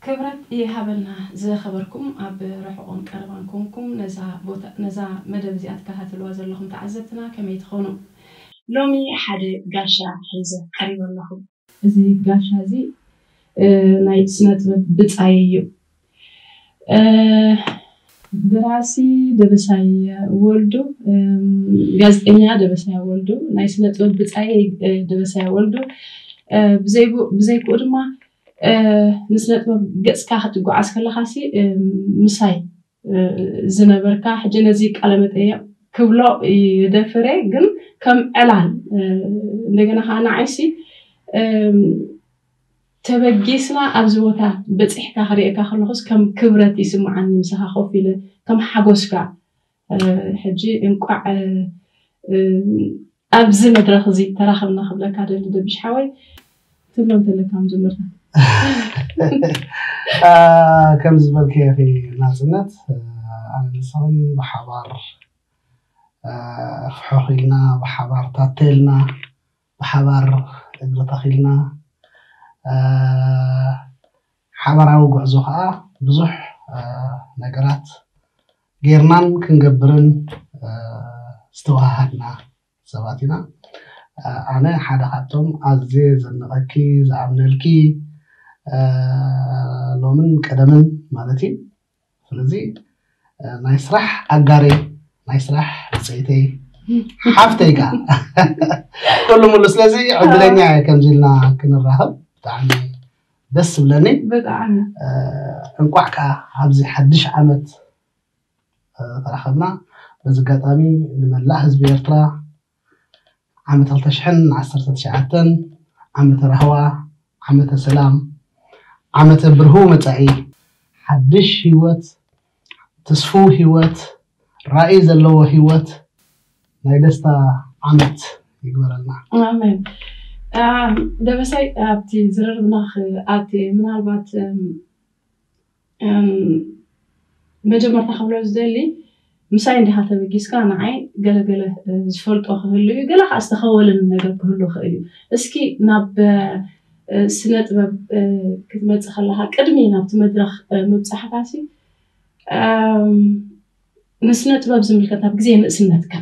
ክብረት ይሃበልና ዝኸበርኩም ኣብ ርሑቕን ቀረባን ኮንኩም ነዛ ቦታ ነዛ መደብ እዚኣ ትከታተልዋ ዘለኹም ተዓዘብትና ከመይ ትኾኑ? ሎሚ ሓደ ጋሻ ሒዘ ቀሪበ ኣለኹ። እዚ ጋሻ እዚ ናይ ስነ ጥበብ ብጻይ እዩ። ደራሲ ደበሳይ ወልዱ፣ ጋዜጠኛ ደበሳይ ወልዱ፣ ናይ ስነ ጥበብ ብጻይ ደበሳይ ወልዱ፣ ብዘይክኡ ድማ ንስነ ጥበብ ገጽካ ክትጓዓዝ ከለኻሲ ምሳይ ዝነበርካ፣ ሕጂ ነዚ ቃለ መጠየቕ ክብሎ ይደፍረ፣ ግን ከም ዕላል እንደገና ከዓ ንዓይሲ ተበጊስና ኣብዚ ቦታ በፂሕካ ክርእየካ ከለኹስ ከም ክብረት ይስምዓኒ፣ ምሳኻ ኮፍ ኢለ ከም ሓጎስካ። ሕጂ እንቋዕ ኣብዚ መድረኽ እዚ ተራኸብና ክብለካ ደሊ ደቢሽ ሓወይ። ትብሎ እንተለካ መጀመርታ። ከም ዝበልክዮ ናፅነት፣ ኣነ ንስኽን ብሓባር ፍሖኽ ኢልና፣ ብሓባር ታተልና፣ ብሓባር እግሪ ተኺልና፣ ሓባራዊ ጉዕዞ ከዓ ብዙሕ ነገራት ጌርናን ክንገብርን ዝተዋሃሃድና ሰባት ኢና። ኣነ ሓደ ካብቶም ኣዝየ ዘድንቐኪ፣ ዝኣምነልኪ፣ ሎምን ቀደምን ማለት እዩ። ስለዚ ናይ ስራሕ ኣጋረይ፣ ናይ ስራሕ ብፀይተይ፣ ሓፍተይ ከዓ ኩሉ ሙሉ። ስለዚ ዕድለኛ እየ ከምዚ ኢልና ክንራኸብ፣ ብጣዕሚ ደስ ዝብለኒ። ብጣዕሚ እንቋዕ ከዓ ኣብዚ ሓድሽ ዓመት ተራኸብና። በዚ ኣጋጣሚ ንመላእ ህዝቢ ኤርትራ ዓመት ክልተ ሽሕን ዓሰርተ ትሽዓተን ዓመተ ራህዋ፣ ዓመተ ሰላም፣ ዓመተ ብርህው መጻኢ፣ ሓድሽ ህይወት፣ ትስፉው ህይወት፣ ራእይ ዘለዎ ህይወት፣ ናይ ደስታ ዓመት ይግበረልና። ኣሜን። ደበሳይ ኣብቲ ዝርርብና ክኣቲ ምናልባት መጀመርታ ክብሎ ዝደሊ ምሳይ እንዲኻ ተበጊስካ ንዓይ ገለገለ ዝፈልጦ ክህሉ እዩ፣ ገለ ከዓ ዝተኸወልን ነገር ክህሉ ይኽእል እዩ። እስኪ ናብ ስነ ጥበብ ክትመፅእ ከለካ ቅድሚ ናብቲ መድረክ ምብፃሕካ ሲ ንስነ ጥበብ ዝምልከት ኣብ ግዜ ንእስነትካ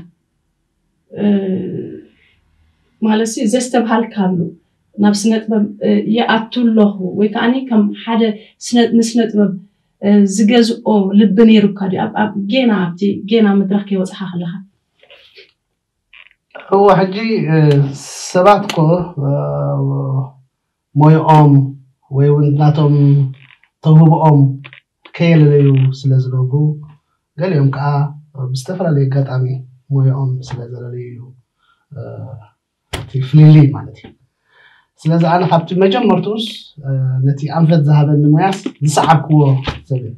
ማለት ዘስተብሃልካሉ ናብ ስነ ጥበብ ይኣቱ ኣለኹ ወይ ከዓ ከም ሓደ ንስነ ጥበብ ዝገዝኦ ልቢ ነይሩካ ድዩ? ጌና ኣብቲ ጌና መድረክ ከይወፅኻ ከለካ? እወ፣ ሕጂ ሰባት እኮ ሞይኦም ወይ እውን ናቶም ተውህብኦም ከየለለዩ ስለ ዝነብሩ፣ ገሊኦም ከዓ ብዝተፈላለየ ኣጋጣሚ ሞይኦም ስለ ዘለለዩ እዩ እቲ ፍልልይ ማለት እዩ። ስለዚ ኣነ ካብቲ መጀመርትኡስ ነቲ ኣንፈት ዝሃበኒ ሞያስ ዝሰዓብክዎ ሰብ እየ።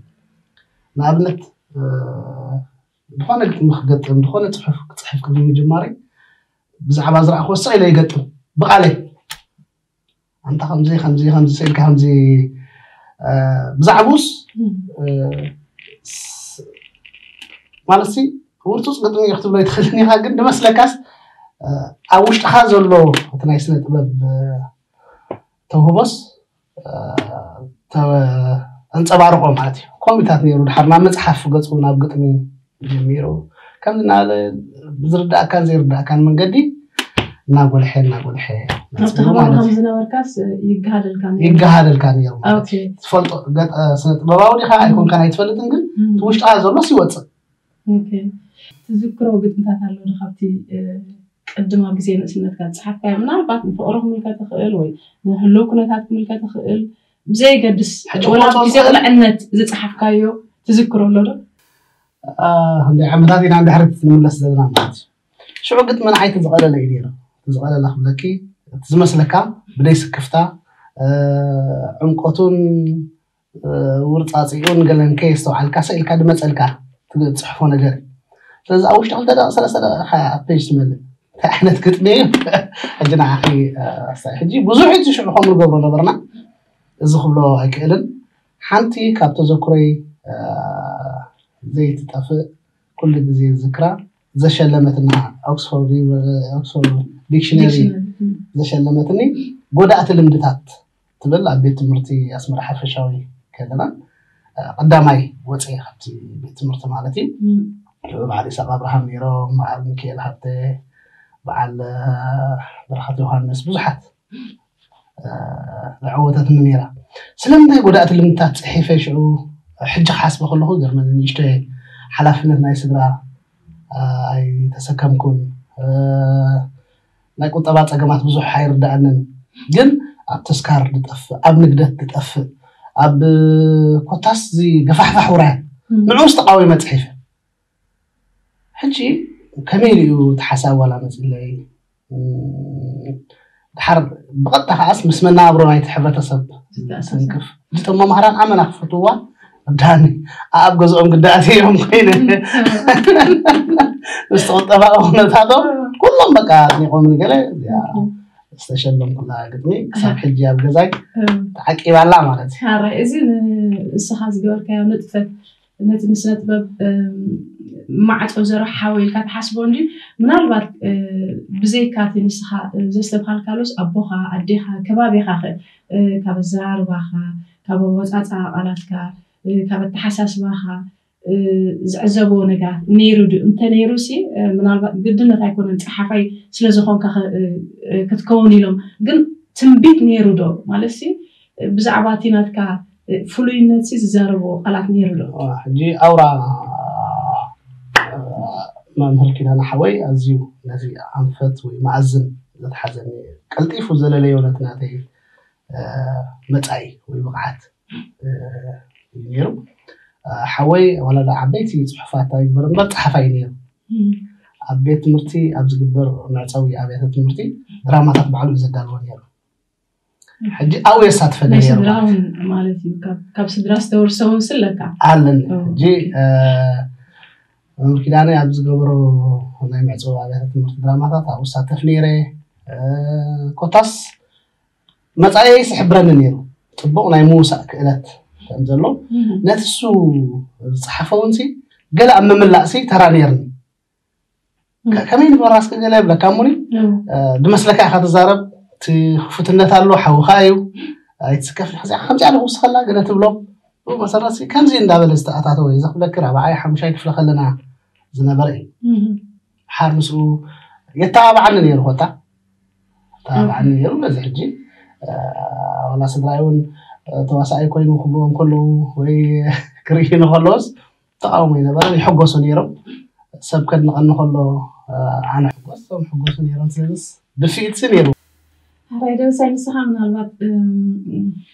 ንኣብነት ዝኾነ ግጥሚ ክገጥም፣ ዝኾነ ፅሑፍ ክፅሕፍ ቅድሚ ምጅማረይ ብዛዕባ ዝረኣኽዎ ስቕ ኢለ ይገጥም ብቓለይ። ኣንታ ከምዚ ከምዚ ከምዚ ስኢልካ ከምዚ ብዛዕቡስ ማለት ሲ ውርፁፅ ግጥሚ ክትብሎ ይትኽእልን ኢኻ፣ ግን ንመስለካስ ኣብ ውሽጥኻ ዘሎ እቲ ናይ ስነ ጥበብ ተውህቦስ ኣንፀባርቆ ማለት እዩ። ከምኡታት ነይሩ። ድሓር ናብ መፅሓፍ ገፁ ናብ ግጥሚ ጀሚሩ ከም ዝናለ ብዝርዳእካን ዘይርዳእካን መንገዲ እናጎልሐ እናጎልሐ ኣብቲ ከባቢ ከም ዝነበርካስ ይገሃደልካ ነይሩ። ይገሃደልካ ነይሩ ማለት እዩ። ትፈልጦ ስነ ጥበባዊ ዲኻ ኣይኮንካን ኣይትፈልጥን፣ ግን ውሽጥኻ ዘሎ ሲወፅእ። ትዝክሮ ግጥምታት ኣሎ ዶ ካብቲ ቅድም ኣብ ግዜ ንእስነትካ ዝፀሓፍካዮ፣ ምናልባት ንፍቕሪ ክምልከት ይኽእል ወይ ንህልው ኩነታት ክምልከት ይኽእል፣ ብዘየገድስ ወላ ኣብ ግዜ ቁልዕነት ዝፀሓፍካዮ ትዝክሮ ኣሎ ዶ? ክንደይ ዓመታት ኢና ንድሕሪት ንምለስ ዘለና ማለት እዩ። ሽዑ ግጥሚ ንዓይ እቲ ዝቐለለ እዩ ነይሩ። እቲ ዝቐለለ ክብለኪ፣ እቲ ዝመስለካ ብደይ ስክፍታ ዕምቆቱን ውርፃፂኡን ገለን ከየስተውዓልካ ሰኢልካ ድመፀልካ ትፅሕፎ ነገር እዩ። ስለዚ ኣብ ውሽጢ ክልተ ደቂቕ ሰለስተ ደቂቕ ኢኻ ፔጅ ትመልእ። እንታይ ዓይነት ግጥሚ እዩ? ሕጂ ንዓኺ ኣስታይ። ሕጂ ብዙሕ እዩ ሽዑ ከምኡ ንገብሮ ነበርና። እዚ ክብሎ ኣይክእልን። ሓንቲ ካብ ተዘክሮይ ዘይትጠፍእ ኩሉ ግዜ ዝክራ ዘሸለመትና ኦክስፎርድ ኦክስፎርድ ዲክሽነሪ ዘሸለመትኒ ጎዳእቲ ልምድታት ትብል ኣብ ቤት ትምህርቲ ኣስመራ ሓፈሻዊ ከለና ቀዳማይ ወፅኤ ካብቲ ቤት ትምህርቲ ማለት እዩ። ብዓል ኢሳቅ ኣብርሃም ነይሮም፣ በዓል ሚካኤል ሃብተ፣ በዓል በረኸት ዮሃንስ፣ ብዙሓት ዝዓወተትኒ ነይራ። ስለምንታይ ጎዳእቲ ልምድታት ፅሒፈ ሽዑ ሕጂ ክሓስበ ከለኹ ገርመኒ። ንእሽቶ ሓላፍነት ናይ ስድራ ኣይተሰከምኩን። ናይ ቁጠባ ፀገማት ብዙሕ ኣይርዳእንን። ግን ኣብ ተስካር ዝጠፍእ፣ ኣብ ንግደት ዝጠፍእ፣ ኣብ ኮታስ እዚ ገፋሕፋሕ ውራያት ንዕኡስ ተቃዊመ ፅሒፈ። ሕጂ ከመይ ኢሉ እዩ እቲ ሓሳብ ዋላ መፅለይ? ድሓር ብቐጥታ ከዓስ ምስ መናብሮ ናይቲ ሕብረተሰብ ትንክፍ። እቶም መምሃራን ኣመና ክፈትዋ ዳኒ ኣብ ገዝኦም ግዳእቲ እዮም ኮይነ ምስ ቁጠባዊ ኩነታቶም ኩሎም በቃ ኣድኒቆም ንገለ ዝተሸለምኩላ ግጥሚ ክሳብ ሕጂ ኣብ ገዛይ ተዓቂባላ ማለት እዩ። ሓራይ እዚ ንስኻ ዝገበርካዮ ንጥፈት ነቲ ንስነ ጥበብ ማዕፆ ዘርሓወ ኢልካ ትሓስቦ እንዲ ምናልባት ብዘይካ እቲ ንስኻ ዘስተብሃልካሉስ ኣቦኻ ኣዴኻ ከባቢኻ ከ ካብ ኣዘራርባኻ ካብ ኣወፃፃ ቃላትካ ካብ ኣተሓሳስባኻ ዝዕዘብዎ ነገራት ነይሩ ድ እንተ ነይሩ ሲ ምናልባት ግድነት ኣይኮነን ፀሓፋይ ስለዝኾንካ ክትከውን ኢሎም ግን ትንቢት ነይሩ ዶ ማለት ሲ ብዛዕባ እቲ ናትካ ፍሉይነት ሲ ዝዛረብዎ ቃላት ነይሩ ዶ? ሕጂ ኣውራ መምህር ኪዳነ ሓወይ ኣዝዩ ነዚ ኣንፈት ወይ መኣዝን ዘትሓዘኒ ቀልጢፉ ዘለለዮ ነቲ ናተይ መጻኢ ወይ ብቕዓት እዩ ነይሩ። ሓወይ ዋላ ዳ ዓበይቲ ጽሑፋት ኣይግበር እምበር ጸሓፋይ ነይሩ። ኣብ ቤት ትምህርቲ ኣብ ዝግበር መዕጸዊ ኣብያተ ትምህርቲ ድራማታት ባዕሉ እዩ ዘዳልዎ ነይሩ። ሕጂ ኣብኡ የሳትፈኒ ናይ ነይሩ ስድራ ማለት እውን ማለት እዩ ካብ- ካብ ስድራ ዝተወርሰ እውን ስለካ ኣለኒ። ሕጂ መምህር ኪዳነ ኣብ ዝገበሮ ናይ መዕጸዊ ኣብያተ ትምህርቲ ድራማታት ኣብኡ እሳተፍ ነይረ። ኮታስ መጻኢይ ይሕብረኒ ነይሩ። ጽቡቕ ናይ ምውሳእ ክእለት ከም ዘሎ ነቲ እሱ ዝጸሓፈ እውን ሲ ገለ ኣብ ምምላእ ሲ ተራ ነይርኒ። ከመይ ንበራስ ገለ ይብለካ እሙኒ ድመስለካ ኢኻ ትዛረብ። እቲ ክፉትነት ኣሎ ሓውኻ እዩ ኣይትስከፍ። ከምዚኣ ከምዚኣ ኣለኹ ውስኸላ ገለ ትብሎ ብኡ መሰረት ሲ ከምዚ እንዳበለ ዝተኣታተወ እዩ ዘኽብለኪ ራብዓይ ሓሙሻይ ክፍለ ከለና ዝነበረ እዩ። ሓር ምስኡ የተባብዓኒ ነይሩ ኮታ ተባብዓኒ ነይሩ። በዚ ሕጂ ዋላ ስድራይ እውን ተዋሳኣይ ኮይኑ ክብልዎም ከለዉ ወይ ክርእዩ ንከለዎስ ተቃውሞ ይነበረ ይሕጎሱ ነይሮም። ሰብ ከድንቀኒ ከሎ ኣነ ሕጎስ ቶም ሕጎሱ ነይሮም። ስለዚስ ድፍኢትሲ ነይሩ። ኣራይ ደበሳይ ንስኻ ምናልባት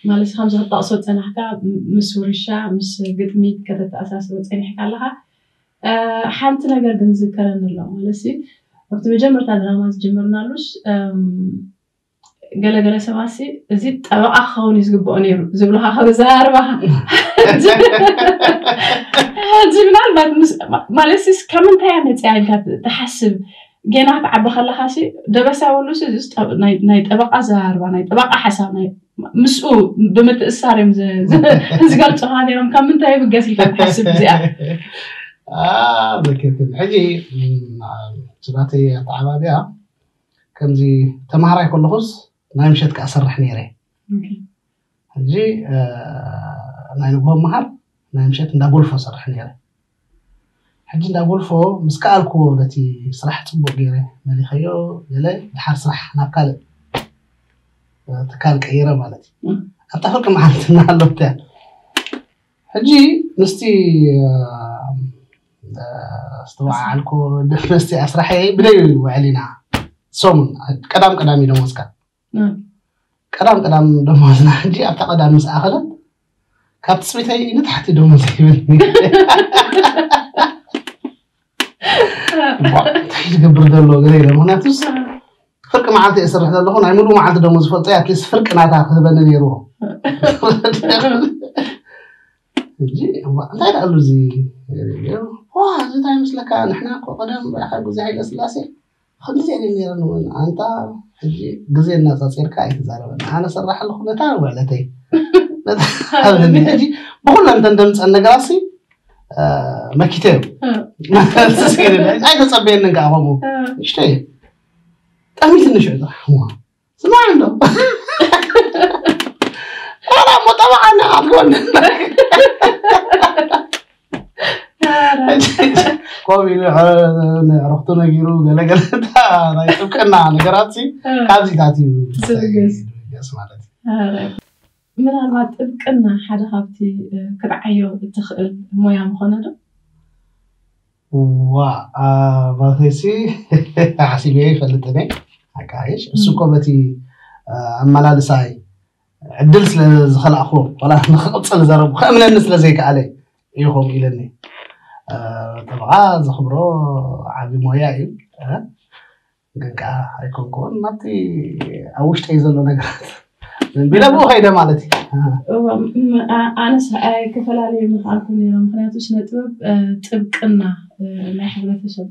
ማለት ከምዚ ክትጠቕሶ ዝጸናሕካ ምስ ውርሻ ምስ ግጥሚ ከተተኣሳስሮ ጸኒሕካ ኣለኻ። ሓንቲ ነገር ግን ዝዝከረኒ ኣሎ ማለት ኣብቲ መጀመርታ ድራማ ዝጀመርናሉስ ገለገለ ሰባት እዚ ጠበቃ ክኸውን እዩ ዝግብኦ ነይሩ ዝብሉካ ካብ ኣዘራርባኻ ሕጂ ምናልባት ማለት ካብ ምንታይ እያ መፅያ ኢልካ ትሓስብ ገና ክትዓቢ ከለካ ደበሳ ወሉስ ናይ ጠበቃ ኣዘራርባ ናይ ጠበቃ ሓሳብ ምስኡ ብምትእሳር እዮም ዝገልፁካ ነይሮም ካብ ምንታይ ይብገስ ኢልካ ትሓስብ እዚኣ ዘኪርክን ሕጂ ስራተይ ኣተዓባቢያ ከምዚ ተማሃራይ ከለኹስ ናይ ምሸት ከዓ ሰርሕ ነይረ ሕጂ ናይ ንግሆ መሃር ናይ ምሸት እንዳ ጎልፎ ሰርሕ ነይረ ሕጂ እንዳ ጎልፎ ምስ ከኣልክዎ ነቲ ስራሕ ፅቡቅ ገይረ መሊኸዮ ገለ ድሓር ስራሕ ናብ ካልእ ትካል ቀይረ ማለት እዩ ኣብታ ፍርቂ መዓልቲ እናሃለወት እያ ሕጂ ምስቲ ዝተወዓዓልኮ ደመስቲ ኣስራሐ ብደይ ውዕል ኢና ሰሙን ቀዳም ቀዳም እዩ ደሞዝካ ቀዳም ቀዳም ደሞዝና ሕጂ ኣብታ ቀዳም ምስ ኣኸለት ካብ ትፅቢተይ ንታሕቲ ደሞዝ ይብል እንታይ ዝገብር ዘሎ ገለ ኢለ ምክንያቱስ ፍርቂ መዓልቲ እየ ስርሕ ዘለኹ ናይ ሙሉእ መዓልቲ ደሞ ዝፈልጦ ኣትሊስት ፍርቂ ናታ ክህበኒ ነይርዎ ሕጂ እንታይ ደኣሉ እዚ እዚ እንታይ ምስለካ ንሕና እኮ ቀደም በረኻ ግዜ ሃይለ ስላሴ ከምዚ ዜለ ነይረን እውን ኣንታ ሕጂ ግዜ እናፃፂርካ ኣይትዛረበን ኣነ ሰራሕ ኣለኹ ነታ ውዕለተይ ነታ ሓበኒ ሕጂ ብኩለን ተን ደምፀን ነገራሲ መኪተ እዩ ኣይተፀበየንን ከዓ ከምኡ ንሽተይ ጠሚትኒ ሽዑ ጥራሕ ስማዕ እንዶ ላላ ሞ ጠበቃ ኣለካ ትኮን። ከምኡ ኢሉ ንዕረክቱ ነጊሩ ገለገለ። ናይ ጥብቅና ነገራት ካብዚታት እዩ ዝብገስ ማለት እዩ። ምናልባት ጥብቅና ሓደ ካብቲ ክትዓዮ እትኽእል ሞያ ምኾነ ዶ? ዋ፣ ማለተይሲ ሓሲበ ይፈልጥ እኔ። ሓቃይሽ እሱ እኮ በቲ ኣመላልሳይ ዕድል ስለ ዝኸላእኹ፣ ዋላ ንክቕፅል ዘረቡ ከእምነኒ ስለ ዘይከኣለ እዩ ከምኡ ኢለኒ። ጠበቓ ዘኽብሮ ዓቢ ሞያ እዩ። ግን ከዓ ኣይኮንኩን ናብቲ ኣብ ውሽጠይ ዘሎ ነገራት ዘንቢለ ብኡ ከይደ ማለት እዩ። ኣነስ ኣይከፈላለዩ ምክኣልኩ ነይረ። ምክንያቱ ስነ ጥበብ ጥብቅና ናይ ሕብረተሰብ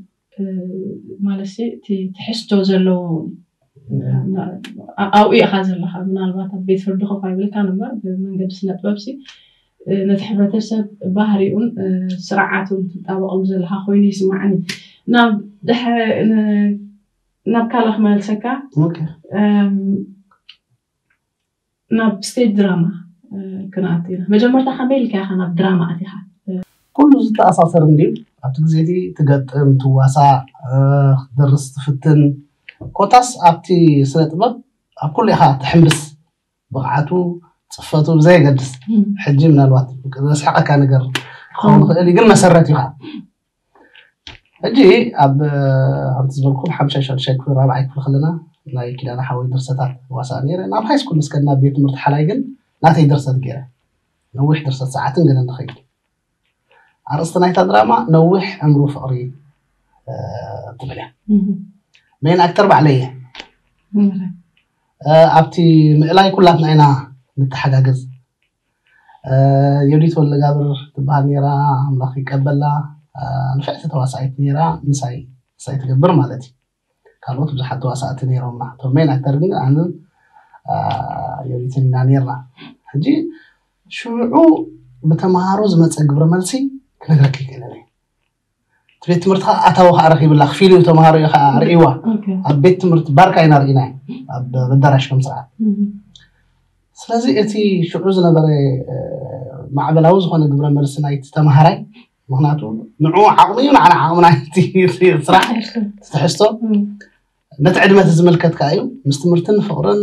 ማለት እቲ ትሕዝቶ ዘለዎ ኣብኡ ኢኻ ዘለኻ። ምናልባት ኣብ ቤት ፍርዲ ኮፍ ኣይብልካን እምበር ብመንገዲ ስነ ጥበብ ሲ ነቲ ሕብረተሰብ ባህሪኡን ስርዓቱን ትጣበቐሉ ዘለኻ ኮይኑ ይስማዓኒ። ናብ ናብ ካልእ ክመልሰካ ናብ ስቴጅ ድራማ ክንኣቱ ኢና። መጀመርታ ከመይ ኢልካ ኢኻ ናብ ድራማ ኣቲኻ? ኩሉ ዝተኣሳሰር እንድዩ። ኣብቲ ግዜ እቲ ትገጥም፣ ትዋሳእ፣ ክትደርስ ትፍትን፣ ኮታስ ኣብቲ ስነ ጥበብ ኣብ ኩሉ ኢኻ ትሕምብስ። ብቕዓቱ፣ ፅፈቱ ብዘየገድስ ሕጂ ምናልባት ዘስሕቐካ ነገር ክኸውን ይኽእል እዩ፣ ግን መሰረት እዩ ከዓ። ሕጂ ኣብ ከምቲ ዝበልኩም ሓምሻይ ሻድሻይ ክፍሊ ራብዓይ ክፍሊ ከለና ናይ ኪዳነ ሓወይ ድርሰታት ዋሳእ ነይረ። ናብ ሃይ ስኩል ምስ ከድና ቤት ትምህርቲ ሓላይ ግን ናተይ ድርሰት ገይረ ነዊሕ ድርሰት ሰዓትን ገለን ንኸይድ። ኣርእስቲ ናይታ ድራማ ነዊሕ ዕምሩ ፍቕሪ ትብል እያ። ሜን ኣክተር ባዕለይ እየ። ኣብቲ ምእላይ ኩላትና ኢና ንተሓጋገዝ። ዮዲት ወልደጋብር ትበሃል ነይራ፣ ኣምላኽ ይቀበላ። ንፍዕቲ ተዋሳኢት ነይራ፣ ምሳይ ምሳይ ትገብር ማለት እዩ። ካልኦት ብዙሓት ተዋሳእቲ ነይሮምና። እቶም ሜን ኣክተር ግን ኣነ ዮዲትን ኢና ነይርና። ሕጂ ሽዑ ብተምሃሮ ዝመፀ ግብረ መልሲ ክነግረኪ ይክእልን እየ። እቲ ቤት ትምህርቲ ከዓ ኣታዊ ከዓ ረኪብላ ክፊሉ ተምሃሮ እዩ ከዓ ርእይዋ። ኣብ ቤት ትምህርቲ ባርካ ኢና ርኢና ኣብ ኣዳራሽ ከም ስርዓት። ስለዚ እቲ ሽዑ ዝነበረ ማዕበላዊ ዝኾነ ግብረ መልሲ ናይቲ ተምሃራይ፣ ምክንያቱ ንዑ ዓቕሚ እዩ ንዓና ዓቕምና ስራሕ ትሕዝቶ ነቲ ዕድመ እቲ ዝምልከት ከዓ እዩ። ምስ ትምህርትን ፍቕርን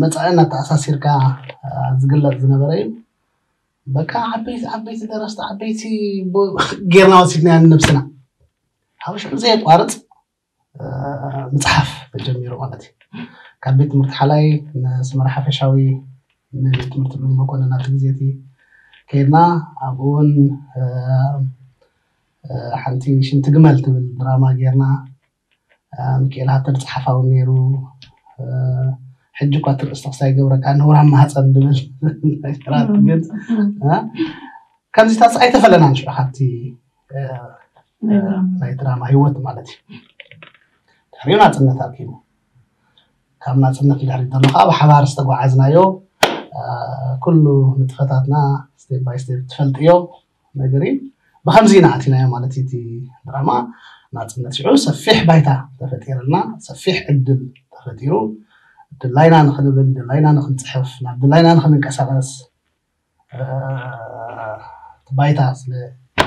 መፃእን ኣተኣሳሲርካ ዝግለፅ ዝነበረ እዩ። በቃ ዓበይቲ ዓበይቲ ደረስቲ ዓበይቲ ጌርና ወሲድና ንነብስና። ካብ ሽዑ ዘየቋርፅ ምፅሓፍ ተጀሚሩ ማለት እዩ። ካብ ቤት ትምህርቲ ሓላይ ንስመራ ሓፈሻዊ ንቤት ትምህርቲ ሉል መኮንን ኣብቲ ግዜ እቲ ከይድና ኣብኡ እውን ሓንቲ ሽንቲ ግመል ትብል ድራማ ጌርና። ሚካኤል ሃብተ ዝፅሓፋ እውን ነይሩ። ሕጂ እኳ እቲ ርእስቲ ክሳይ ገብረካ ነውራም ማህፀን ዝብል ነገራት ግን ከምዚታት ኣይተፈለናን ሽዑ ካብቲ ናይ ድራማ ህይወት ማለት እዩ። ድሕሪኡ ናፅነት ኣኪቡ ካብ ናፅነት ድሕሪ ዘሎ ከዓ ብሓባር ዝተጓዓዝናዮ ኩሉ ንጥፈታትና ስቴፕ ባይ ስቴፕ ትፈልጥዮ ነገር እዩ። ብከምዚ ኢና ኣቲናዮ ማለት እዩ። እቲ ድራማ ናፅነት ሽዑ ሰፊሕ ባይታ ተፈጢርልና፣ ሰፊሕ ዕድል ተፈጢሩ ድላይና ንክንብል፣ ድላይና ንክንፅሕፍ፣ ናብ ድላይና ንክንንቀሳቀስ እቲ ባይታ ስለ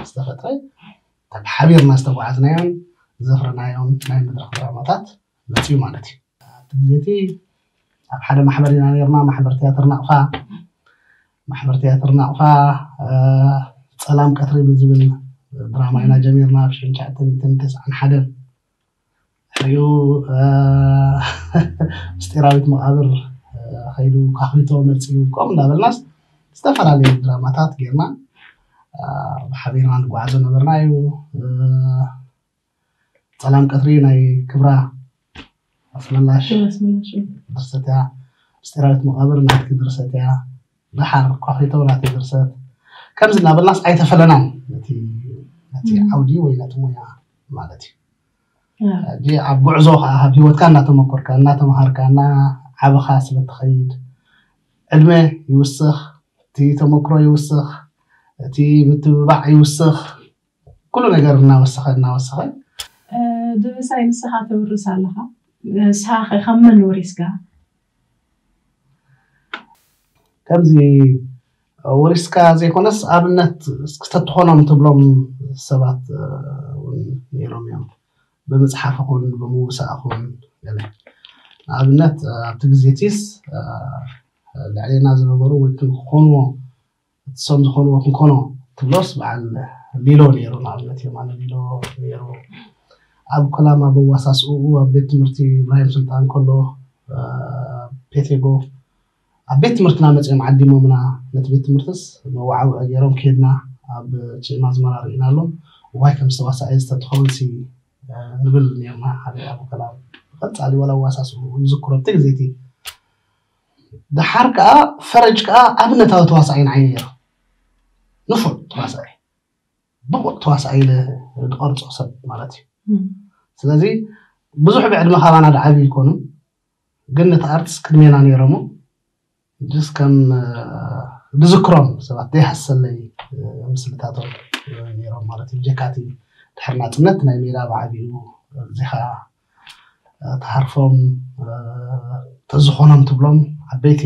ዝተፈጥረ ካብ ሓቢርና ዝተጓዓዝናዮን ዘፍረናዮን ናይ መድረክ ድራማታት መፅዩ ማለት እዩ። ኣብቲ ግዜ እቲ ኣብ ሓደ ማሕበር ኢና ነርና፣ ማሕበር ትያትር ናቕፋ። ማሕበር ትያትር ናቕፋ ጸላም ቀትሪ ብዝብል ድራማ ኢና ጀሚርና ኣብ ሽሕን ትሽዓተ ሚእትን ተስዓን ሓደን። ድሕሪኡ ምስጢራዊት መቓብር ከይዱ ካኺቶ መጺኡ ከምኡ እንዳበልናስ ዝተፈላለዩ ድራማታት ጌርና ብሓቢርና ንጓዓዞ ነበርና እዩ። ጸላም ቀትሪ ናይ ክብራ ኣስመላሽ ድርሰት እያ። ምስጢራዊት መቓብር ናትኪ ድርሰት እያ። ደሓር ኳኺቶ ናተይ ድርሰት። ከምዚ እናበልናስ ኣይተፈለናን ነቲ ነቲ ዓውዲ ወይ ነቲ ሞያ ማለት እዩ። ሕጂ ኣብ ጉዕዞ ከዓ ኣብ ህይወትካ እናተመኮርካ እናተምሃርካ እናዓበኻ ስለ ትኸይድ ዕድመ ይውስኽ፣ እቲ ተመክሮ ይውስኽ፣ እቲ ምትብባዕ ይውስኽ። ኩሉ ነገር እናወሰኸ እናወሰኸ ድብሳይ ንስኻ ተውርስ ኣለኻ። ንስኻ ከ ካብ መን ወሪስካ? ከምዚ ወሪስካ ዘይኮነስ ኣብነት እስኪ ተትኾኖም ትብሎም ሰባት እውን ነይሮም እዮም። ብምፅሓፍ ኹን ብምውሳእ ኹን ገለ ንኣብነት ኣብቲ ግዜ ቲስ ልዕሌና ዝነበሩ ወይ ክንኮንዎ እሶም ዝኾንዎ ክንኮኖ ትብሎስ በዓል ሊሎ ነይሩ። ንኣብነት የማነ ሊሎ ነይሩ። ኣብ ኮላማ በዋሳስኡ ኣብ ቤት ትምህርቲ ኢብራሂም ስልጣን ከሎ ፔቴጎ ኣብ ቤት ትምህርትና መፅኦም ዓዲሞምና። ነቲ ቤት ትምህርትስ መዋዓውዒ ገይሮም ከድና ኣብ ጭማ ኣዝመራ ርኢናሎም። ዋይ ከም ዝተዋሳኤ ዝተትኸውን ሲ ንብል ነርና። ሓደ ኣብ ኮላማ ብቐፃሊ ዋላ ዋሳስኡ ይዝክሮ ኣብቲ ግዜ እቲ። ደሓር ከዓ ፈረጅ ከዓ ኣብነታዊ ተዋሳኣይ ንዓይ ነይሩ። ንፉዕ ተዋሳኣይ፣ ብቑዕ ተዋሳኣይ ኢለ ዝቐርፆ ሰብ ማለት እዩ። ስለዚ ብዙሕ ብዕድመ ካባና ድዓብዩ ይኮኑ፣ ግን ነቲ ኣርትስ ቅድሜና ነይሮሞ ጅስ ከም ዝዝክሮም ሰባት ዘይሃሰለይ ምስልታቶም ነይሮም ማለት እዩ። ብጀካቲ ድሕሪ ናፅነት ናይ ሜዳ ብዓብኡ እዚኻ ተሃርፎም ተዝኾኖም ትብሎም ዓበይቲ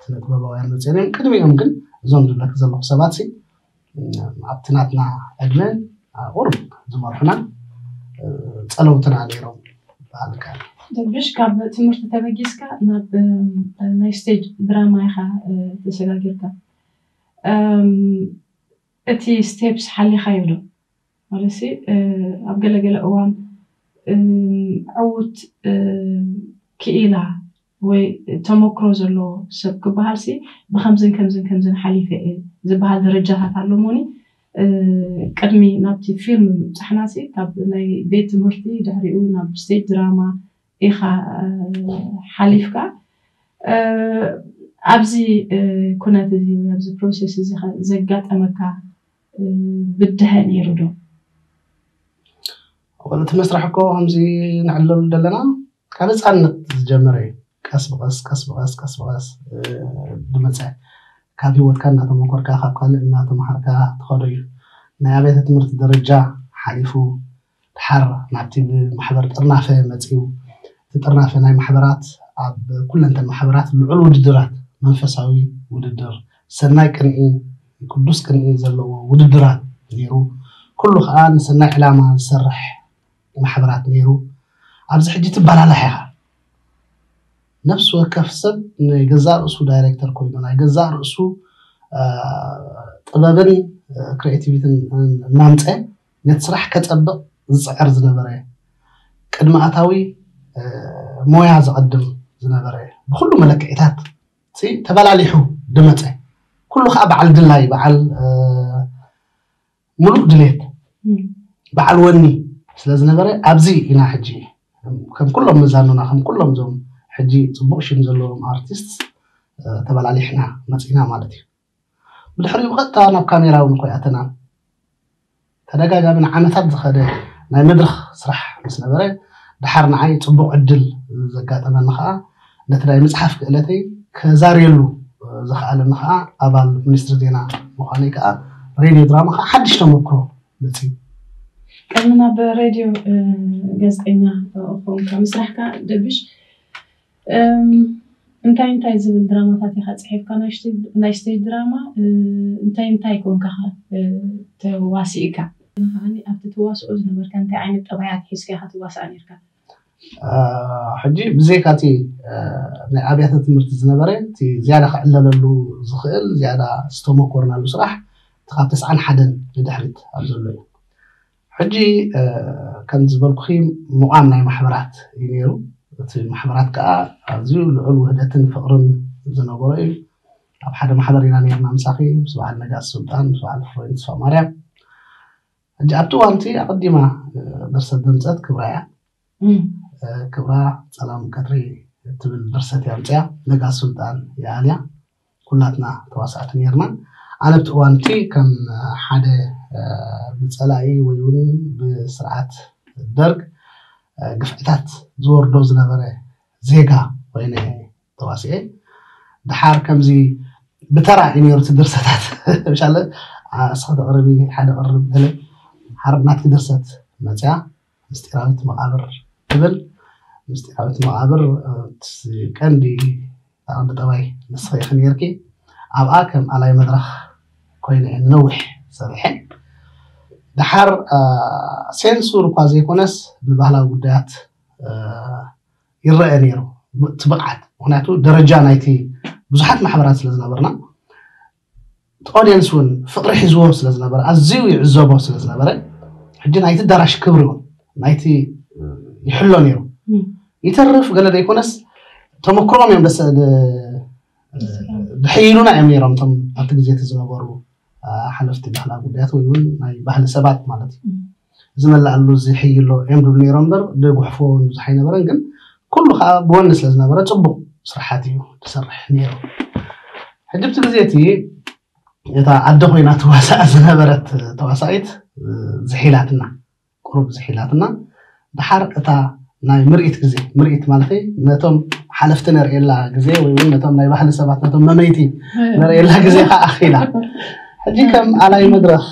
ስነ ጥበባውያን መፅኦም እዮም። ቅድሚኦም ግን እዞም ዝብለክ ዘለኹ ሰባት ሲ ኣብቲ ናትና ዕድመ ቁሩብ ዝመርሑና ፀለውትና ነይሮም በሃልካ። ደብሽ ካብ ትምህርቲ ተበጊስካ ናብ ናይ ስቴጅ ድራማ ኢኻ ተሰጋጊርካ። እቲ ስቴፕስ ሓሊኻዮ ዶ? ማለት ኣብ ገለገለ እዋን ዕዉት ክኢላ ወይ ተመክሮ ዘለዎ ሰብ ክበሃል ሲ ብከምዝን ከምዝን ከምዝን ሓሊፈ እየ ዝበሃል ደረጃታት ኣሎ ሞኒ ቅድሚ ናብቲ ፊልም ምብፃሕና ሲ ካብ ናይ ቤት ትምህርቲ ድሕሪኡ ናብ ስቴጅ ድራማ ኢኻ ሓሊፍካ ኣብዚ ኩነት እዚ ወይ ኣብዚ ፕሮሴስ እዚ ዘጋጠመካ ብድሀ ነይሩ ዶ? ወላ እቲ መስራሕ እኮ ከምዚ ንዕለሉ ዘለና ካብ ህፃንነት ዝጀመረ እዩ። ቀስ ብቐስ ቀስ ብቐስ ቀስ ብቐስ ዝመፀ ካብ ህይወትካ እናተመኮርካ ካብ ካልእ እናተምሃርካ ትኸዶ እዩ። ናይ ኣብያተ ትምህርቲ ደረጃ ሓሊፉ ድሓር ናብቲ ብማሕበር ጥርናፈ መፅኡ። እቲ ጥርናፈ ናይ ማሕበራት ኣብ ኩለንተን ማሕበራት ልዑል ውድድራት መንፈሳዊ ውድድር ሰናይ ቅንኢ ቅዱስ ቅንኢ ዘለዎ ውድድራት ነይሩ። ኩሉ ከዓ ንሰናይ ዕላማ ዝሰርሕ ማሕበራት ነይሩ። ኣብዚ ሕጂ ትበላላሕ ኢኻ። ነፍሲ ወከፍ ሰብ ናይ ገዛእ ርእሱ ዳይሬክተር ኮይኑ ናይ ገዛእ ርእሱ ጥበብን ክሬቲቪትን እናምፀ ነቲ ስራሕ ከፀብቕ ዝፅዕር ዝነበረ ቅድሚ ኣታዊ ሞያ ዘቐድም ዝነበረ ብኩሉ መለክዒታት ተበላሊሑ ድመፀ ኩሉ ከዓ በዓል ድላይ በዓል ሙሉእ ድሌት በዓል ወኒ ስለዝነበረ ኣብዚ ኢና ሕጂ ከም ኩሎም መዛኑና ከም ኩሎም ዞም ሕጂ ፅቡቅ ሽም ዘለዎም ኣርቲስት ተበላሊሕና መፂና ማለት እዩ። ብድሕሪኡ ብቐጥታ ናብ ካሜራ እውን እኮ ይኣተና ተደጋጋሚ ንዓመታት ዝኸደ ናይ መድረኽ ስራሕ ምስ ነበረ ድሓር ንዓይ ፅቡቕ ዕድል ዘጋጠመኒ ከዓ ነቲ ናይ ምፅሓፍ ክእለተይ ከዛርየሉ ዝኸኣለኒ ከዓ ኣባል ሚኒስትሪ ዜና ምዃነይ ከዓ ሬድዮ ድራማ ከዓ ሓድሽ ተመክሮ መፅዩ። ቅድሚ ናብ ሬድዮ ጋዜጠኛ ኮንካ ምስራሕካ ደብሽ እንታይ እንታይ ዝብል ድራማታት ኢኻ ፅሒፍካ? ናይ ስቴጅ ድራማ እንታይ እንታይ ኮንካ ተዋሲእካ? ከዓኒ ኣብቲ ትዋስኦ ዝነበርካ እንታይ ዓይነት ጠባያት ሒዝካ ኢኻ ትዋሳእ ነርካ? ሕጂ ብዘይካ እቲ ናይ ኣብያተ ትምህርቲ ዝነበረ እቲ ዝያዳ ክዕለለሉ ዝኽእል ዝያዳ ዝተመኮርናሉ ስራሕ እቲ ካብ ተስዓን ሓደን ንድሕሪት ኣብ ዘሎ እዩ። ሕጂ ከም ዝበልኩኺ ምቋም ናይ ማሕበራት እዩ ነይሩ። እቲ ማሕበራት ከዓ ኣዝዩ ልዑል ውህደትን ፍቕርን ዝነበሮ እዩ። ኣብ ሓደ ማሕበር ኢና ነርና ምሳኺ ምስ በዓል ነጋስ ሱልጣን ምስ በዓል ፍሬን ተስፋ ማርያም። ሕጂ ኣብቲ እዋንቲ ኣቐዲማ ድርሰት ዘምፀት ክብራ እያ። ክብራ ፀላም ቀትሪ እትብል ድርሰት እያ ኣምፅያ ነጋስ ሱልጣን ይኣልያ ኩላትና ተዋሳእቲ ነርና። ኣነ ኣብቲ እዋንቲ ከም ሓደ ብፀላኢ ወይ እውን ብስርዓት ደርግ ግፍዕታት ዝወርዶ ዝነበረ ዜጋ ኮይነ ተዋሲኤ። ድሓር ከምዚ ብተራ እዩ ነይሩ እቲ ድርሰታት። ምሻለ እስኸ ተቕርቢ ሓደ ቅርብ ገለ ሓር ናትኪ ድርሰት መፅያ ምስጢራዊት መቓብር ትብል። ምስጢራዊት መቓብር ቀንዲ ቀንዲ ጠባይ ንስኸ ኢኺ ነይርኪ። ኣብኣ ከም ኣላይ መድረኽ ኮይነ እየ ንነዊሕ ሰሪሐ። ደሓር ሴንሱር እኳ ዘይኮነስ ብባህላዊ ጉዳያት ይረአ ነይሩ እቲ ብቕዓት። ምክንያቱ ደረጃ ናይቲ ብዙሓት ማሕበራት ስለ ዝነበርና፣ ኦድየንስ እውን ፍቕሪ ሒዝዎ ስለ ዝነበረ፣ ኣዝዩ ይዕዘቦ ስለ ዝነበረ፣ ሕጂ ናይቲ ኣዳራሽ ክብሪ እውን ናይቲ ይሕሎ ነይሩ። ይተርፍ ገለ ዘይኮነስ ተመክሮም እዮም ደስ ድሕይሉና እዮም ነይሮም፣ እቶም ኣብቲ ግዜ እቲ ዝነበሩ ሓለፍቲ ባህላዊ ጉዳያት ወይ እውን ናይ ባህሊ ሰባት ማለት እዩ። ዝመላኣሉ ዝሕይሎ እዮም ድብሉ ነይሮም እምበር፣ ድጉሕፍዎ እውን ብዙሕ ኣይነበረን። ግን ኩሉ ከዓ ብወኒ ስለ ዝነበረ ፅቡቕ ስራሓት እዩ ዝሰርሕ ነይሩ። ሕጂ ኣብቲ ግዜ እቲ እታ ኣደ ኮይና ትዋሳእ ዝነበረት ተዋሳኢት ዝሒላትና፣ ቁሩብ ዝሒላትና። ደሓር እታ ናይ ምርኢት ግዜ፣ ምርኢት ማለት ነቶም ሓለፍቲ ነርእየላ ግዜ ወይ እውን ነቶም ናይ ባህሊ ሰባት፣ ነቶም መመይቲ ነርእየላ ግዜ ከዓ ኣኺላ። ሕጂ ከም ኣላይ መድረኽ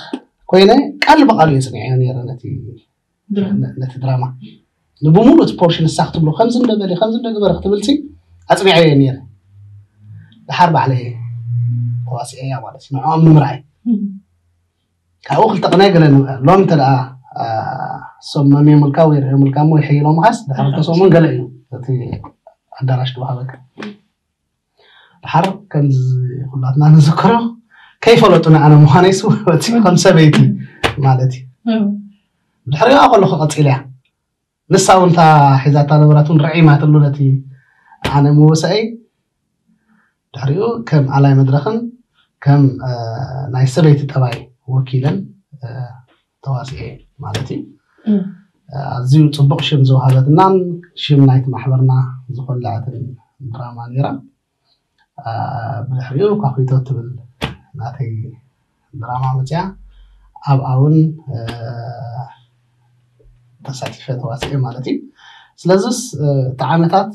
ኮይነ ቃል ብቃሉ እየ ፅኒዐዮ ነይረ ነቲ ድራማ። ነቲ ድራማ ንብሙሉ እቲ ፖርሽን ንሳ ክትብሎ ከምዚ እንደበለ ከምዚ እንደገበረ ክትብልሲ ኣፅኒዐዮ ነይረ። ደሓር ባዕለየ ተዋሲዐያ ማለት እዩ ንዕኦም ንምርኣይ። ካብኡ ክልተ ቅናይ ገለ ሎም እንተ ደኣ እሶም መምዮምልካ ወይ ርእዮምልካ እሞ ይሕይሎምኻስ ድሕሪ ክልተ ሰሙን ገለ እዩ እቲ ኣዳራሽ ዝወሃበካ። ደሓር ከምዚ ኩላትና ንዝክሮ ከይፈለጡ ንኣነ ምዃነይስ ወፂ ከም ሰበይቲ ማለት እዩ። ድሕሪኣ ከለኹ ቀፂልያ ንሳ እውን እታ ሒዛታ ነበራት እውን ርዒማትሉ ነቲ ኣነ ምውሳኤይ። ድሕሪኡ ከም ኣላይ መድረኽን ከም ናይ ሰበይቲ ጠባይ ወኪለን ተዋሲኤ ማለት እዩ። ኣዝዩ ፅቡቕ ሽም ዝወሃበትናን ሽም ናይቲ ማሕበርና ዝኾለዐትን ድራማ ነይራ። ብድሕሪኡ ኳኺቶ ትብል ናተይ ድራማ መፅያ ኣብኣ እውን ተሳቲፈ ተዋሲኤ ማለት እዩ። ስለዚስ እቲ ዓመታት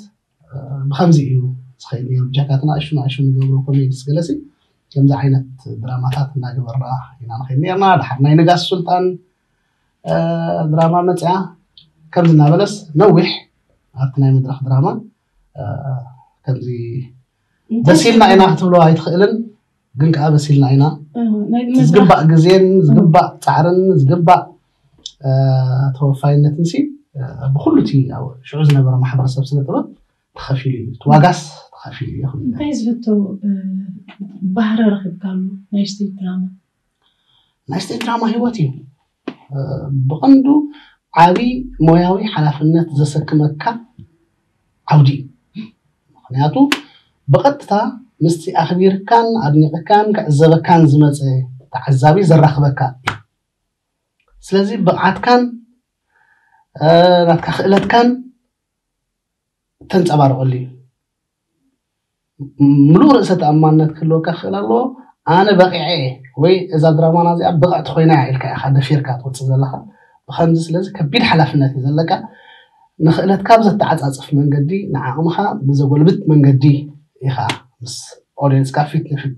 ብከምዚ እዩ ዝኸይድ ነይሩ። ብጀካቲ ንኣሽቱ ንኣሽቱ ንገብሮ ኮሜዲስ ገለሲ ከምዚ ዓይነት ድራማታት እናገበርና ኢና ንኸይድ ነርና። ድሓር ናይ ንጋስ ሱልጣን ድራማ መፅያ ከምዚ እናበለስ ነዊሕ ኣብቲ ናይ መድረክ ድራማ ከምዚ በሲልና ኢና ክትብሎ ኣይትኽእልን፣ ግን ከዓ በሲልና ኢና። ዝግባእ ግዜን ዝግባእ ፃዕርን ዝግባእ ተወፋይነትን ሲ ብኩሉ እቲ ሽዑ ዝነበረ ማሕበረሰብ ስነ ጥበብ ተኸፊሉ እዩ። እቲ ዋጋስ ተኸፊሉ እዩ። እንታይ ዝፍቶ ባህሪ ረኺብካሉ ናይ ስቴጅ ድራማ? ናይ ስቴጅ ድራማ ህይወት እዩ። ብቐንዱ ዓብዪ ሞያዊ ሓላፍነት ዘሰክመካ ዓውዲ እዩ። ምኽንያቱ ብቐጥታ ምስቲ ኣኽቢርካን ኣድኒቕካን ክዕዘበካን ዝመፀ ተዓዛቢ ዘራኽበካ እዩ። ስለዚ ብቕዓትካን ናትካ ክእለትካን ተንፀባርቐሉ እዩ። ምሉእ ርእሰ ተኣማንነት ክህልወካ ክኽእል ኣለዎ። ኣነ በቒዐ እየ ወይ እዛ ድራማና እዚኣ ብቕዕቲ ኮይና እያ ኢልካ ኢኻ ደፊርካ ትወፅእ ዘለኻ። ብኸምዚ ስለዚ ከቢድ ሓላፍነት እዩ ዘለካ። ንኽእለትካ ብዘተዓፃፅፍ መንገዲ፣ ንዓቕምኻ ብዘጎልብት መንገዲ ኢኻ ምስ ኦድየንስካ ፊት ንፊት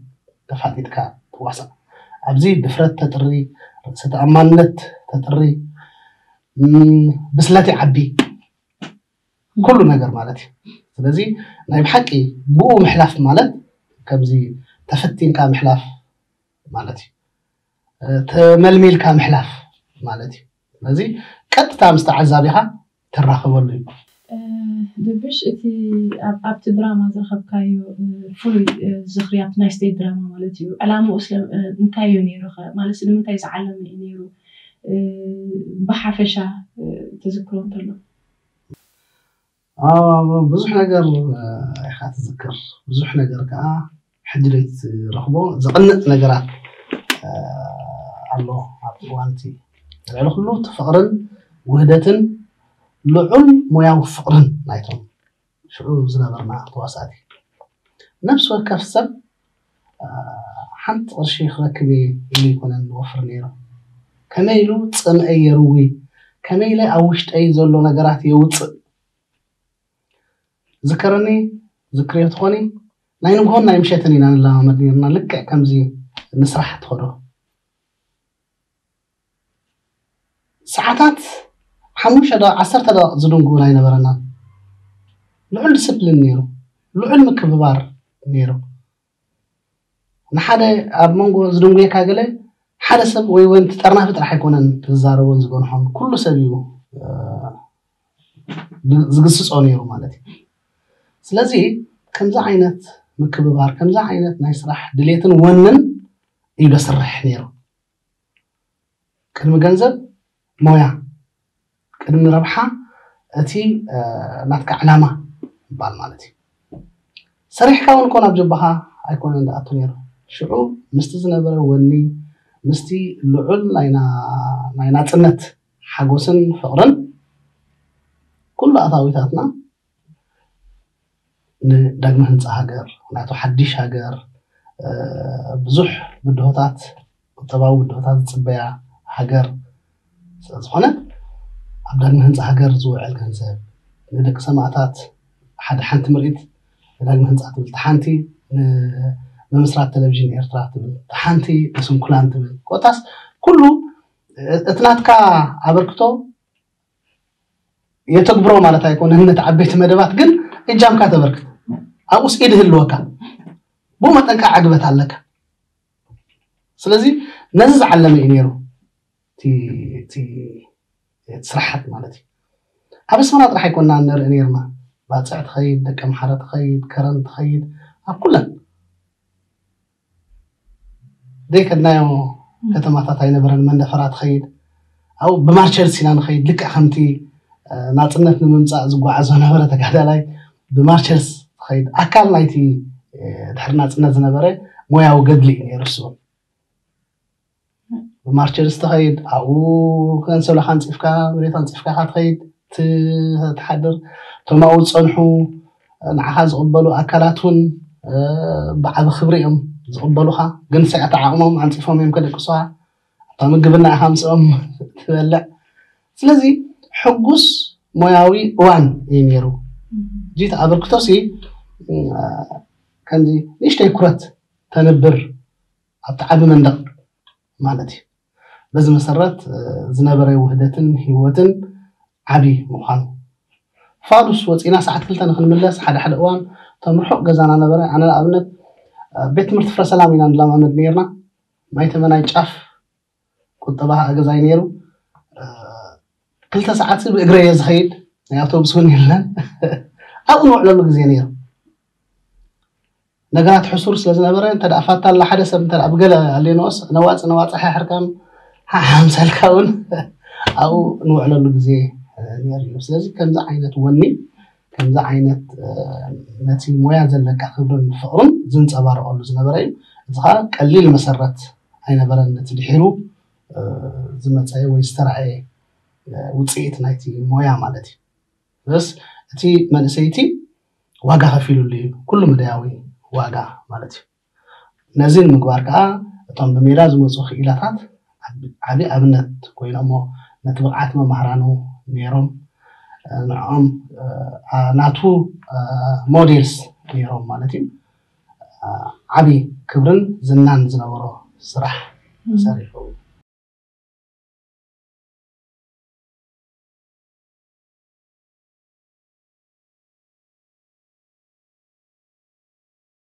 ተፋጢጥካ ትዋሳእ። ኣብዚ ድፍረት ተጥሪ፣ ርእሰ ተኣማንነት ተጥሪ፣ ብስለት ይዓቢ። ኩሉ ነገር ማለት እዩ። ስለዚ ናይ ብሓቂ ብኡ ምሕላፍ ማለት ከምዚ ተፈቲንካ ምሕላፍ ማለት እዩ። ተመልሚልካ ምሕላፍ ማለት እዩ። ስለዚ ቀጥታ ምስ ተዓዛቢኻ ትራኸበሉ እዩ። ድብሽ እቲ ኣብቲ ድራማ ዝረኸብካዮ ፍሉይ ዝኽሪ ኣብቲ ናይ ስቴጅ ድራማ ማለት እዩ ዕላምኡ እንታይ እዩ ነይሩ? ማለት ንምንታይ ዝዓለመ እዩ ነይሩ? ብሓፈሻ ትዝክሮ እንተሎ ብዙሕ ነገር ኢኻ ትዝክር። ብዙሕ ነገር ከዓ ሕጂ ዘይትረኽቦ ዘቕንእ ነገራት ኣሎ። ኣብ እዋንቲ ልዕሊ ኩሉ እቲ ፍቕርን ውህደትን ልዑል ሞያዊ ፍቕርን ናይቶም ሽዑ ዝነበርና ተዋሳእቲ። ነፍሲ ወከፍ ሰብ ሓንቲ ቅርሺ ክረክብ እየ ኢሉ ኣይኮነን ዝወፍር ነይሩ። ከመይ ኢሉ ፅምአይ የርዊ፣ ከመይ ኢለ ኣብ ውሽጠይ ዘሎ ነገራት የውፅእ። ዝከረኒ ዝክርዮ ትኾኒ ናይ ንግሆን ናይ ምሸትን ኢና ንለማመድ ነርና። ልክዕ ከምዚ ንስራሕ ትኸዶ ሰዓታት ሓሙሽተ ደቂቕ ዓሰርተ ደቂቕ ዝድንጉ ኣይነበረናን። ልዑል ዲስፕሊን ነይሩ፣ ልዑል ምክብባር ነይሩ። ንሓደ ኣብ መንጎ ዝድንጉየካ ገለ ሓደ ሰብ ወይ እውን ጠርናፊ ጥራሕ ኣይኮነን ዝዛረቦን ዝገንሖን፣ ኩሉ ሰብ እዩ ዝግስፆ ነይሩ ማለት እዩ። ስለዚ ከምዚ ዓይነት ምክብባር፣ ከምዚ ዓይነት ናይ ስራሕ ድሌትን ወንን እዩ ዘስርሕ ነይሩ። ቅድሚ ገንዘብ ሞያ፣ ቅድሚ ረብሓ እቲ ናትካ ዕላማ ይባል ማለት እዩ። ሰሪሕካ እውን ኮን ኣብ ጀባኻ ኣይኮነን ዝኣቱ ነይሩ። ሽዑ ምስቲ ዝነበረ ወኒ፣ ምስቲ ልዑል ናይ ናፅነት ሓጎስን ፍቕርን ኩሉ ኣታዊታትና ንዳግመ ህንፃ ሃገር፣ ናቱ ሓድሽ ሃገር፣ ብዙሕ ብድሆታት፣ ቁጠባዊ ብድሆታት ዝፅበያ ሃገር ስለዝኾነ፣ ኣብ ዳግመ ህንፃ ሃገር ዝውዕል ገንዘብ፣ ንደቂ ሰማእታት ሓደ ሓንቲ ምርኢት ንዳግመ ህንፃ ትብል፣ ሓንቲ ንምምስራት ቴሌቪዥን ኤርትራ ትብል፣ ሓንቲ ንስንኩላን ትብል፣ ኮታስ ኩሉ እቲ ናትካ ኣበርክቶ የተግብሮ ማለት ኣይኮነን። ነቲ ዓበይቲ መደባት ግን እጃምካ ተበርክት፣ ኣብኡስ ኢድ ህልወካ፣ ብኡ መጠንካ ዕግበት ኣለካ። ስለዚ ነዚ ዝዓለመ እዩ ነይሩ እቲ ስራሓት ማለት እዩ። ኣብ ኣስመራ ጥራሕ ኣይኮና ንርኢ ነርና፣ ባፅዕ ትኸይድ፣ ደቂ ኣምሓረ ትኸይድ፣ ከረን ትኸይድ፣ ኣብ ኩለን ዘይከድናዮ ከተማታት ኣይነበረን። መንደፈራ ትኸይድ፣ ኣብኡ ብማርቸርስ ኢና ንኸይድ፣ ልክዕ ከምቲ ናፅነት ንምምፃእ ዝጓዓዞ ነበረ ተጋዳላይ። ብማርቸርስ ትኸይድ፣ ኣካል ናይቲ ድሕሪ ናፅነት ዝነበረ ሞያዊ ገድሊ እዩ ነይሩ እሱ። ብማርቸርስ ትኸይድ፣ ኣብኡ ከንሰሎኻ ኣንፂፍካ፣ መሬት ኣንፂፍካ ኢኻ ትኸይድ፣ ት- ትሓድር። እቶም ኣብኡ ዝፀንሑ ንዓኻ ዝቕበሉ ኣካላት እውን ብዓቢ ክብሪ እዮም ዝቕበሉኻ። ግን ሰዓት ዓቕሞም ኣንፂፎም እዮም ከደቅሱኻ። እታ ምግብና ኢኻ ምስኦም ትበልዕ። ስለዚ ሕጉስ ሞያዊ እዋን እዩ ነይሩ። ጂት ኣበርክቶሲ ከምዚ ንእሽተይ ኩረት ተንብር ኣብቲ ዓቢ መንደቕ ማለት እዩ። በዚ መሰረት ዝነበረ ውህደትን ህይወትን ዓቢ ምዃኑ። ፋዱስ ወፂና ሰዓት ክልተ ንክንምለስ ሓደ ሓደ እዋን እቶም ርሑቕ ገዛና ነበረ። ኣነ ንኣብነት ቤት ትምህርቲ ፍረ ሰላም ኢና ንለማመድ ነርና። ማይ ተመናይ ጫፍ ቁጠባ ከዓ ገዛይ ነይሩ። ክልተ ሰዓት ብእግረ እየ ዝኸይድ፣ ናይ ኣውቶቡስ እውን የለን። ኣብኡ ንውዕለሉ ግዜ ነይሩ። ነገራት ሕሱር ስለ ዝነበረ እንተ ደኣ ፋታ ኣላ ሓደ ሰብ እንተ ደኣ ብገለ ኣሌኖስ ነዋፅ ነዋፅ ሓሕርካን ሓሓምሰልካ እውን ኣብኡ ንውዕለሉ ግዜ ነይሩ እዩ። ስለዚ ከምዚ ዓይነት ወኒ፣ ከምዚ ዓይነት ነቲ ሞያ ዘለካ ክብርን ፍቕርን ዝንፀባረቐሉ ዝነበረ እዩ። እዚ ከዓ ቀሊል መሰረት ኣይነበረን፣ ነቲ ድሒሩ ዝመፀ ወይ ዝተረኣየ ውፅኢት ናይቲ ሞያ ማለት እዩ። በስ እቲ መንእሰይቲ ዋጋ ከፊሉሉ እዩ፣ ኩሉ መዳያዊ ዋጋ ማለት እዩ። ነዚ ንምግባር ከዓ እቶም ብሜዳ ዝመፁ ክኢላታት ዓቢ ኣብነት ኮይኖሞ ነቲ ብቕዓት መማህራኑ ነይሮም። ንዕኦም ናቱ ሞዴልስ ነይሮም ማለት እዩ። ዓቢ ክብርን ዝናን ዝነበሮ ስራሕ ሰሪሑ።